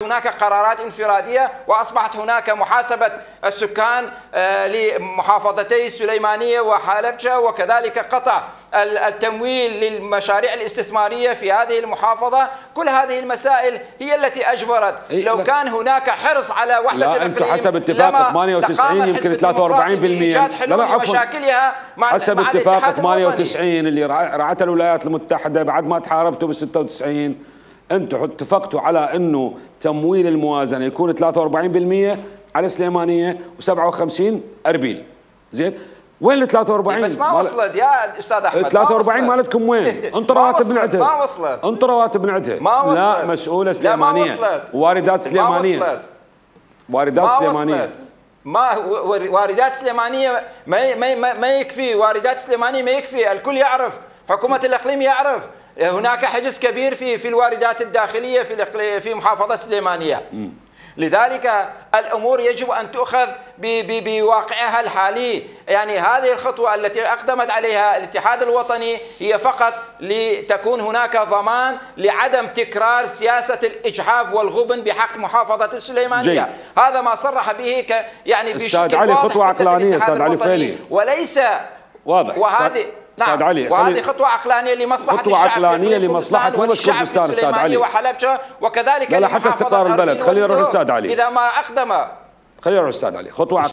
هناك قرارات انفرادية، وأصبحت هناك محاسبة السكان لمحافظتي السليمانية وحلبجة، وكذلك قطع التمويل للمشاريع الاستثمارية في هذه المحافظة. كل هذه المسائل هي التي أجبرت. لو كان هناك حرص على وحدة الإقليم، أنتم حسب اتفاق 98 يمكن 43%. لا عفوا، مشاكلها مع حسب اتفاق 98 اللي رعتها الولايات المتحدة بعد ما تحاربتوا بال 96، انتم اتفقتوا على انه تمويل الموازنه يكون 43% على سليمانيه و57 اربيل. زين، وين ال 43؟ بس ما وصلت يا استاذ احمد. 43 مالتكم وين؟ انطوا رواتب من عندها. ما وصلت. انطوا رواتب من عندها. ما وصلت. لا، مسؤوله سليمانيه. واردات سليمانيه. ما وصلت. واردات سليمانيه. ما واردات سليمانيه ما يكفي. واردات سليمانيه ما يكفي. الكل يعرف، حكومه الاقليم يعرف هناك حجز كبير في الواردات الداخليه في محافظه السليمانيه. لذلك الامور يجب ان تؤخذ بواقعها الحالي. يعني هذه الخطوه التي اقدمت عليها الاتحاد الوطني هي فقط لتكون هناك ضمان لعدم تكرار سياسه الاجحاف والغبن بحق محافظه السليمانيه. جي. هذا ما صرح به يعني بشكل واضح خطوه عقلانيه استاذ علي فيلي، وليس واضح. وهذه استاذ علي، وهذه خطوه عقلانيه لمصلحه خطوه عقلانيه لمصلحه والشعب في السليمانيه وحلبجه، وكذلك لا حتى استقرار البلد. خلينا نروح استاذ علي. اذا ما اقدم خلينا نروح استاذ علي. خطوه